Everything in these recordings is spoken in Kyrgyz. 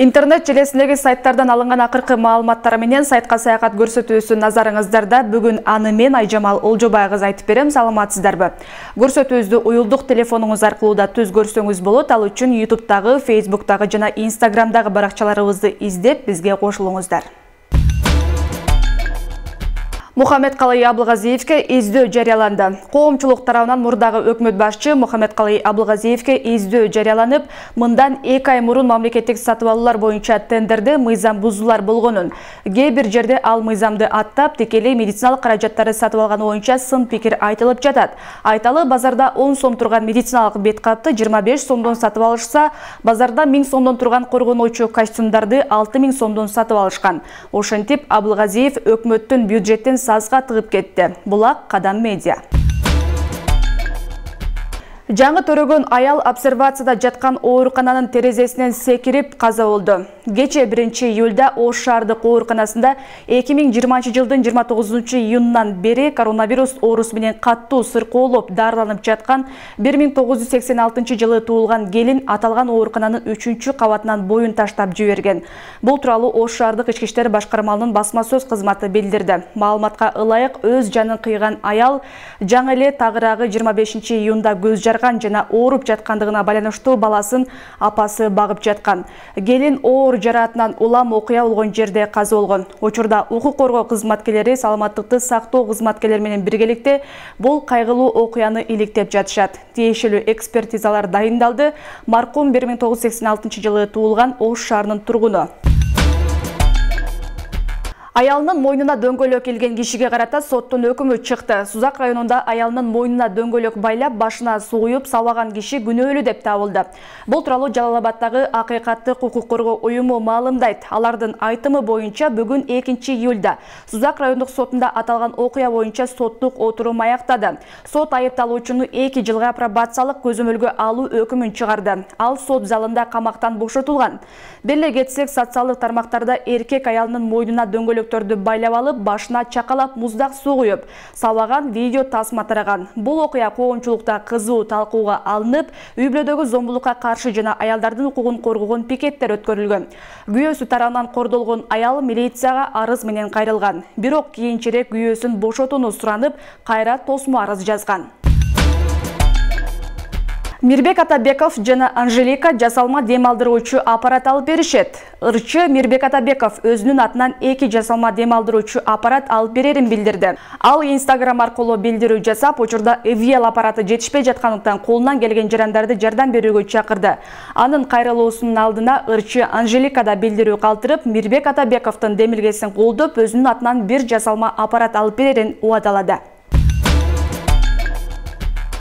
Интернет желесиндеги сайттардан алынган акыркы маалыматтар менен сайтка саякат көрсөтүүсү назарыңыздарда. Бүгүн аны мен Айжамал Олжобай кыз айтып берем. Саламатсыздарбы? Көрсөтүүбүздү уюлдук телефонуңуз аркылуу да түз көрсөңүз болот. Ал үчүн YouTube'тагы, Facebook'тагы жана Instagram'дагы баракчаларыбызды издеп, бизге кошулуңуздар. Мухаммедкалый Абылгазиевке издөө жарыяланды. Коомчулук тарабынан мурдагы өкмөт башчы Мухаммедкалый Абылгазиевке издөө жарыяланып, мындан 2 ай мурун мамлекеттик сатып алуулар боюнча тендерде мыйзам бузуулар болгонун, кээ бир жерде ал мыйзамды аттап, тикелей медициналык каражаттарды сатып алганы боюнча сын пикир айтылып жатат. Айталы, базарда 10 сом турган медициналык бет капты 25 сомдон сатып алышса, базарда 1000 сомдон турган коргонуучу костюмдарды 6000 сомдон сатып алышкан. Ошентип, Абылгазиев өкмөттүн бюджеттин сазга тыгып кетти. Булак Кадам Медиа. Жаңы төрөгөн аял обсервацияда жаткан оорукананын терезесинен секирип каза болду. Кече 1-июлда Ош шаардык ооруканасында 2020 жылдын 29-июнунан бери коронавирус оорусу менен каттуу сыркоолоп дарыланып жаткан 1986 жылы туулган келин аталган оорукананын 3-кабатынан боюн таштап жиберген. Бул тууралуу Ош шаардык ички иштер башкармалыгынын басма сөз кызматы билдирди. Маалыматка ылайык, өз жанын кыйган аял жаңы эле тагыраагы 25-июнда көз жарган жана ооруп жаткандыгына байланыштуу баласын апасы багып жаткан. Келин оор жараатынан улам окуя болгон жерде каза болгон. Учурда укук коргоо кызматкерлери саламаттыкты сактоо кызматкерлери менен биргеликте бул кайгылуу окуяны иликтеп жатышат. Тиешелүү экспертизалар дайындалды. Маркум 1986 жылы туулган Ош шаарынын тургуну. Аялынын мойнуна дөңгөлөк келген кишиге карата соттун өкүмү чыкты. Сузак районунда аялынын мойнуна дөңгөлөк байлап, башына суу куюп сабаган киши күнөөлүү деп табылды. Бул тууралуу Жалал Абаддагы Акыйкаттык укук коргоо уюму маалымдайт. Алардын айтымы боюнча бүгүн 2-июлда Сузак райондук сотунда аталган окуя боюнча соттук отурум аяктады. Сот айыпталуучуну 2 жылга пробациялык көзөмөлгө алуу өкүмүн чыгарды. Ал сот залында камактан бошотулган. Беле кетсек, социалдык тармактарда эркек аялынын мойнуна дөңгөлөктөрдү байлап алып, башына чакалап муздак суу куюп, сабаган видео тасма тараган. Бул окуя коомчулукта кызуу талкууга алынып, үй-бүлөдөгү зомбулукка каршы жана аялдардын укугун коргогон пикеттер өткөрүлгөн. Күйөөсү тарабынан кордолгон аял милицияга арыз менен кайрылган. Бирок кийинчерээк күйөөсүн бошотууну суранып, кайра тосмо арыз жазган. Мирбек Атабеков жана Анжелика жасалма дем алдыруучу аппарат алып беришет. Ырчы Мирбек Атабеков өзүнүн атынан 2 жасалма дем алдыруучу аппарат алып берерин билдирди. Ал Instagram аркылуу билдирүү жасап, учурда ИВЛ аппараты жетишпей жаткандыктан колунан келген жарандарды жардам берүүгө чакырды. Анын кайрылуусунун алдына ырчы Анжелика да билдирүү калтырып, Мирбек Атабековдун демилгесин колдоп, өзүнүн атынан 1 жасалма аппарат алып берерин убадалады.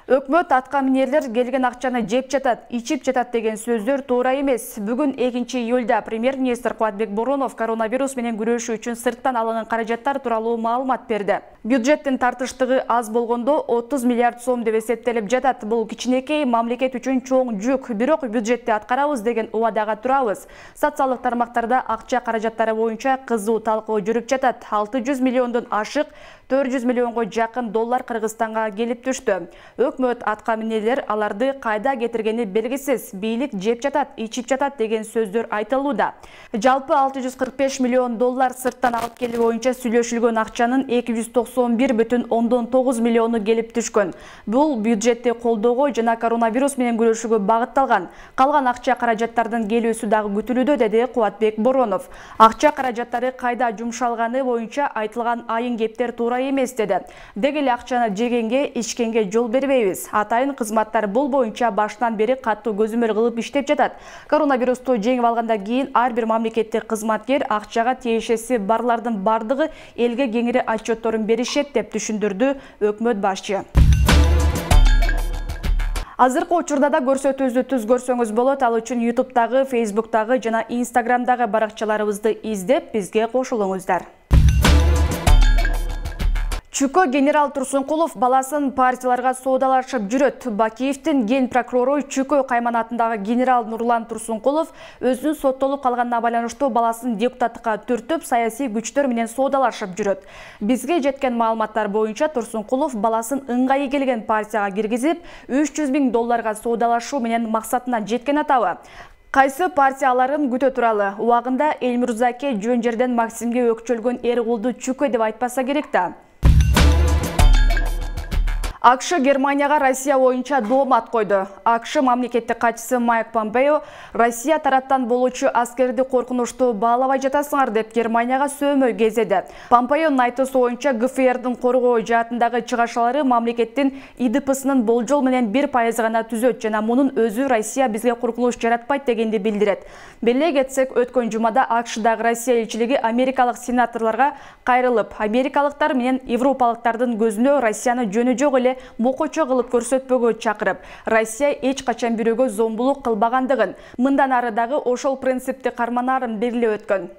Өкмөт атка минерлер келген акчаны жеп жатат, ичип жатат деген сөздөр туура эмес. Бүгүн 2-июлда премьер-министр Кубатбек Боронов коронавирус менен күрөшүү үчүн сырттан алынган каражаттар тууралуу маалымат берди. Бюджеттин тартыштыгы аз болгондо 30 миллиард сом деп эсептелип жатат. Бул кичинекей мамлекет үчүн чоң жүк, бирок бюджетти аткарабыз деген убадага турабыз. Социалдык тармактарда акча каражаттары боюнча кызуу талкуу жүрүп жатат. 600 миллиондон ашык 400 миллионго жакын доллар Кыргызстанга келип түштү. Өкмөт атка минерлер аларды кайда кетиргени белгисиз. Бийлик жеп жатат, ичип жатат деген сөздөр айтылууда. Жалпы 645 миллион доллар сырттан алып келүү боюнча сүйлөшүлгөн акчанын 291,9 миллиону келип түшкөн. Бул бюджетти колдоого жана коронавирус менен күрөшүүгө багытталган. Калган акча каражаттардын келүүсү дагы күтүлүүдө, деди Кубатбек Боронов. Акча каражаттары кайда жумшалганы боюнча айтылган айын кептер туура эмес, деди. Деги эле акчаны жегенге, ичкенге жол бербейбиз. Атайын кызматтар бул боюнча баштан бери каттуу көзөмөл кылып иштеп жатат. Коронавирусту жеңип алгандан кийин ар бир мамлекеттик кызматкер акчага тиешеси барлардын бардыгы элге кеңири отчетторун беришет деп түшүндүрдү өкмөт башчы. Азыркы учурда да көрсөтүүбүздү түз көрсөңүз болот. Ал үчүн YouTube'тагы, Facebook'тагы жана Instagram'дагы баракчаларыбызды издеп, бизге кошулуңуздар. Чүкө генерал Турсункулов баласын партияларга соодалашып жүрөт. Бакиевдин ген прокурору Чүкө кайманатындагы генерал Нурлан Турсункулов өзүнүн соттолуп калганына байланыштуу баласын депутаттыкка түртүп, саясий күчтөр менен соодалашып жүрөт. Бизге жеткен маалыматтар боюнча Турсункулов баласын ыңгайы келген партияга киргизип, 300 000 долларга соодалашуу менен максатына жеткен атабы. Кайсы партияларын күтө туралы? Убагында Элмирзаке жөн жерден Максимге өкчөлгөн эр кулду чүкө деп айтпаса керек да. АКШ Германияга Россия боюнча доомат койду. АКШ мамлекеттик катчысы Майк Помпео Россия тараптан болуучу аскерди коркунучтуу баалабай жатасыңар деп Германияга сөөмөй кезеди. Помпеонун айтуусу боюнча ГФРдин коргоо жаатындагы чыгашалары мамлекеттин ИДПсынын болжол менен 1% гана түзөт жана мунун өзү Россия бизге коркунуч жаратпайт дегенди билдирет. Беле кетсек, өткөн жумада АКШдагы Россия элчилиги америкалык сенаторлорго кайрылып, америкалыктар менен европалыктардын көзүнө Россияны жөнү жок эле мокочо кылып көрсөтпөгө чакырып, Россия эч качан бирөөгө зомбулук кылбагандыгын, мындан ары дагы ошол принципти карманаарын белгилеп өткөн.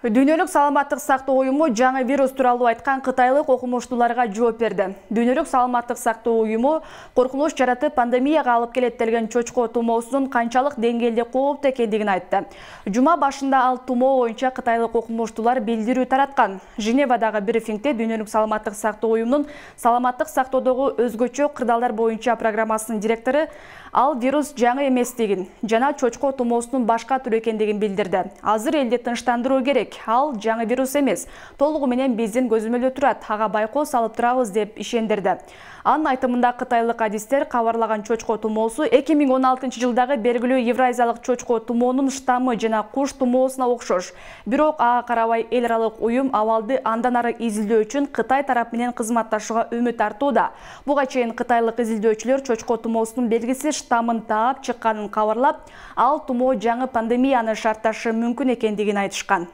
Дүйнөлүк саламаттык сактоо уюму жаңы вирус тууралуу айткан кытайлык окумуштууларга жооп берди. Дүйнөлүк саламаттык сактоо уюму коркунуч жаратып пандемияга алып келет делген чочко тумоосунун канчалык деңгээлде кооптуу экендигин айтты. Жума башында ал тумоо боюнча кытайлык окумуштуулар билдирүү тараткан. Женевадагы брифингде Дүйнөлүк саламаттык сактоо уюмунун саламаттык сактоодогу өзгөчө кырдаалдар боюнча программасынын директору ал вирус жаңы эместигин жана чочко тумоосунун башка түрү экендигин билдирди. Азыр элди тынчтандыруу керек. Ал жаңы вирус эмес, толугу менен биздин көзөмөлдө турат, ага байкоо салып турабыз деп ишендирди. Анын айтымында кытайлык адистер кабарлаган чочко тумоосу 2016 жылдагы белгилүү евразиялык чочко тумоонун штаммы жана куш тумоосуна окшош. Бирок ага карабай эл аралык уюм абалды андан ары изилдөө үчүн Кытай тарап менен кызматташууга үмүт артууда. Буга чейин кытайлык изилдөөчүлөр чочко тумоосунун белгиси штаммын таап чыкканын кабарлап, ал тумоо жаңы пандемияны шартташы мүмкүн экендигин айтышкан.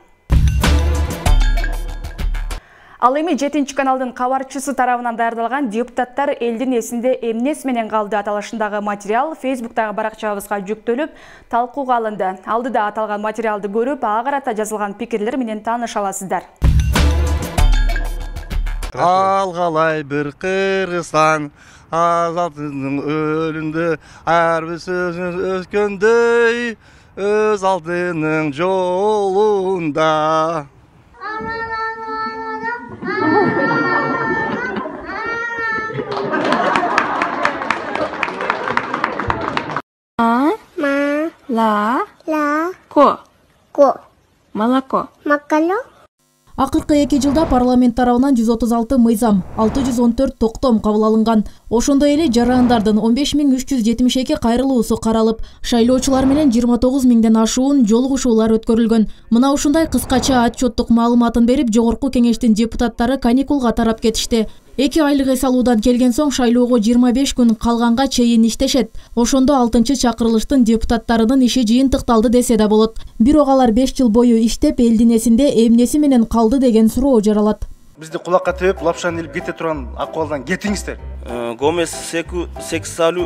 Ал эми 7 каналдын кабарчысы тарабынан даярдалган депутаттар элдин эсинде эмнес менен калды аталышындагы материал Facebook'тагы баракчабызга жүктөлүп, талкууга алынды. Алдыда аталган материалды көрүп, ага карата жазылган пикирлер менен тааныша аласыздар. Алгалай бир Кыргызстан, азаттыктын өлүндө ар бир сөзүн өткөндөй, өз алдынын жолунда. Молоко. Акыркы 2 жылда парламент тарабынан 136 мыйзам, 614 токтом кабыл алынган. Ошондой эле жарандардын 15372 кайрылуусу каралып, шайлоочулар менен 29 миңден ашуун жолугушуулар өткөрүлгөн. Мына ушундай кыскача отчеттук маалыматын берип, жогорку кеңештин депутаттары каникулга тарап кетишти. 2 айлык эс алуудан келген соң шайлоого 25 күн калганга чейин иштешет. Ошондо 6-чакырылыштын депутаттарынын иши жыйынтыкталды десе да болот. Бирок алар 5 жыл бою иштеп, элдин эсинде эмнеси менен калды деген суроо жаралат. Бизди кулакка тебип, лапшаны илип кете турган акыбалдан кетиңиздер. Гомес сексуалу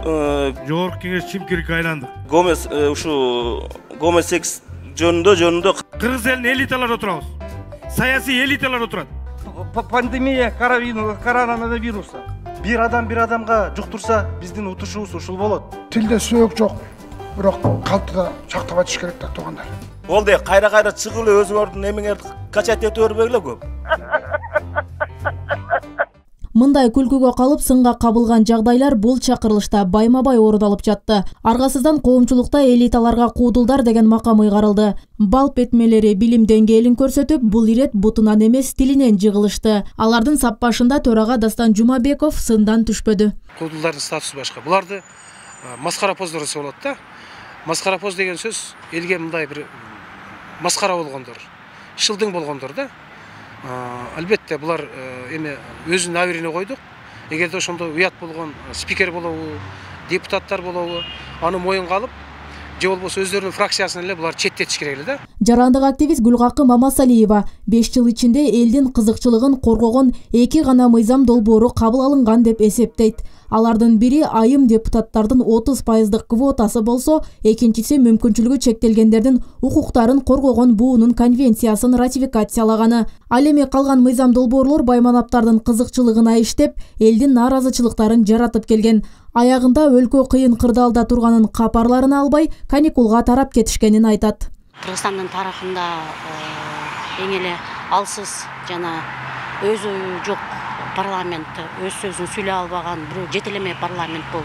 жогорку кеңеш чимкирикке айланды. Гомес ушу Гомес секс жөнүндө Кыргыз элинин элиталары отурабыз. Саясий элиталар отурат. Пандемия коронавируса. Бир адамга жуктурса, биздин утушубуз ушул болот. Тилде сөөк жок, бирок калтыда сактап атыш керек да туугандар. Болду, кайра чыгып эле өзүңөрдүн эмеңерди качат этип өрбөгүлө көп. Мындай күлкүгө калып сынга кабылган жагдайлар бул чакырылышта байма-бай орун алып жатты. Аргасыздан коомчулукта элиталарга куудулдар деген макам ыйгарылды. Балп этмелери билим деңгээлин көрсөтүп, бул ирет бутунан эмес тилинен жыгылышты. Алардын саппашында төрага Дастан Жумабеков сындан түшпөдү. Куудулдардын статусу башка. Буларды маскарапоздор десе болот да. Маскарапоз деген сөз элге мындай бир маскара болгондор, шылдың болгондор да. Албетте булар эми өзүнүн абирине койдук. Эгерде ошондо уят болгон спикер болобу, депутаттар болобу, аны моюнга алып, же болбосо өздөрүнүн фракциясын эле булар четтетиш керек эле да. Жарандык активист Гүлгакы Мамасалиева 5 жыл ичинде элдин кызыкчылыгын коргогон 2 гана мыйзам долбоору кабыл алынган деп эсептейт. Алардын бири айым депутаттардын 30% квотасы болсо, экинчиси мүмкүнчүлүгү чектелгендердин укуктарын коргогон буунун конвенциясын ратификациялаганы. Ал эми калган мыйзам долбоорлор байманаптардын кызыкчылыгына иштеп, элдин нааразычылыктарын жаратып келген. Аягында өлкө кыйын кырдаалда турганын капарларына албай, каникулга тарап кетишкенин айтат. Кыргызстандын тарыхында эң эле алсыз жана өзү жок парламент, өз сөзүн сүйлөй албаган бирөө жетелеме парламент бул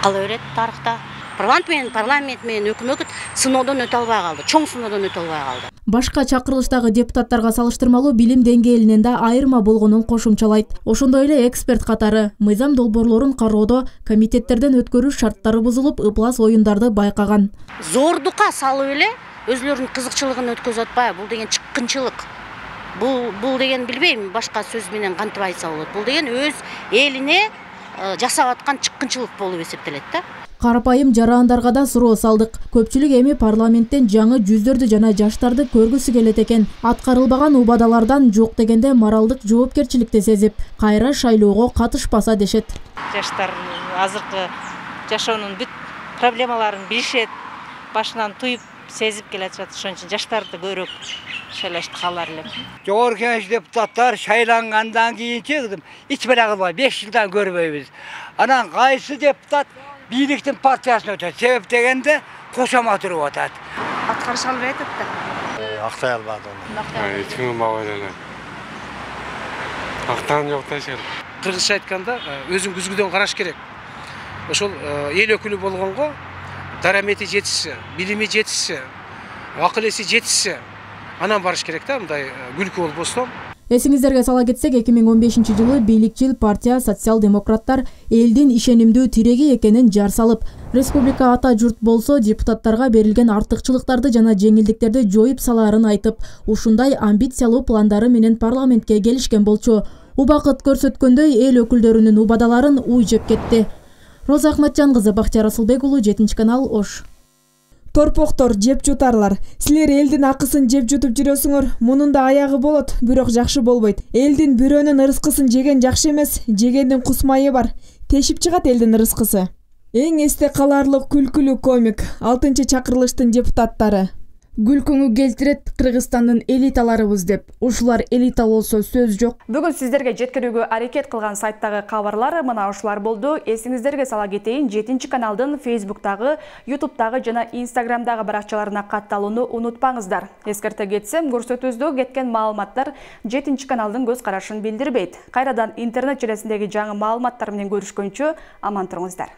кала берет тарыхта. парламент менен өкмөт сыноодон өтө албай калды, чоң сыноодон өтө албай калды. Башка чакырылыштагы депутаттарга салыштырмалуу билим деңгээлинен да айырма болгонун кошумчалайт. Ошондой эле эксперт катары мыйзам долбоорлорун кароодо комитеттерден өткөрүү шарттары бузулуп, ыплас оюндарды байкаган. Зордукка салып эле өзүлөрүнүн кызыкчылыгын өткөзүп атпайбы? Бул деген чыккынчылык. Бул деген билбейм, башка сөз менен кантип айтса болот. Бул деген өз элине жасап аткан чыккынчылык болуп эсептелет да. Карапайым жарандарга да суроо салдык. Көпчүлүк эми парламенттен жаңы жүздөрдү жана жаштарды көргүсү келет экен. Аткарылбаган убадалардан жок дегенде моралдык жоопкерчиликти сезип, кайра шайлоого катышпаса дешет. Жаштар азыркы жашоонун бүт проблемаларын билишет, башынан туюп сезип келатышат. Ошон үчүн жаштарды көбүрөөк шайлашты каалар элем. Жогорку Кеңеш депутаттар шайлангандан кийинчи эч бара кылбай 5 жылдан көрбөйбүз. Анан кайсы депутат бийликтин партиясына өтөт. Себеп дегенде кошомат үрүп атат. Аткарыша албай атат да. Актай албады аны. Эч ким албай эле. Актан жок да жер. Кыргызча айтканда өзүң күзгүдөн караш керек. Ошол эл өкүлү болгонго дарамети жетишсе, билими жетишсе, акыл эси жетишсе, анан барыш керек да, мындай күлкү болбостон. Эсиңиздерге сала кетсек, 2015-жылы бийликчил партия социал-демократтар элдин ишенимдүү тиреги экенин жар салып, республика ата журт болсо депутаттарга берилген артыкчылыктарды жана жеңилдиктерди жоюп салаарын айтып, ушундай амбициялуу пландары менен парламентке келишкен болчу. Убакыт көрсөткөндөй эл өкүлдөрүнүн убадаларын уй жеп кетти. Роза Ахматжан кызы, Бактияр Асылбек уулу, 7-канал, Ош. Торпоктор, жеп жутарлар. Силер элдин акысын жеп жутуп жүрөсүңөр. Мунун да аягы болот, бирок жакшы болбойт. Элдин бирөөнүн ырыскысын жеген жакшы эмес, жегендин кусмайы бар. Тешип чыгат элдин ырыскысы. Эң эсте каларлык күлкүлүү комик 6-чакырылыштын депутаттары. Күлкүңү келтирет Кыргызстандын элиталарыбыз деп. Ушулар элита болсо сөз жок. Бүгүн сиздерге жеткирүүгө аракет кылган сайттагы кабарлар мына ушулар болду. Эсиңиздерге сала кетейин, 7-каналдын Facebooktагы, YouTube'дагы жана Instagram'дагы баракчаларына катталууну унутпаңыздар. Эскерте кетсем, көрсөтүүбүздө кеткен маалыматтар 7-каналдын көз карашын билдирбейт. Кайрадан интернет желесиндеги жаңы маалыматтар менен көрүшкөнчө аман туруңуздар.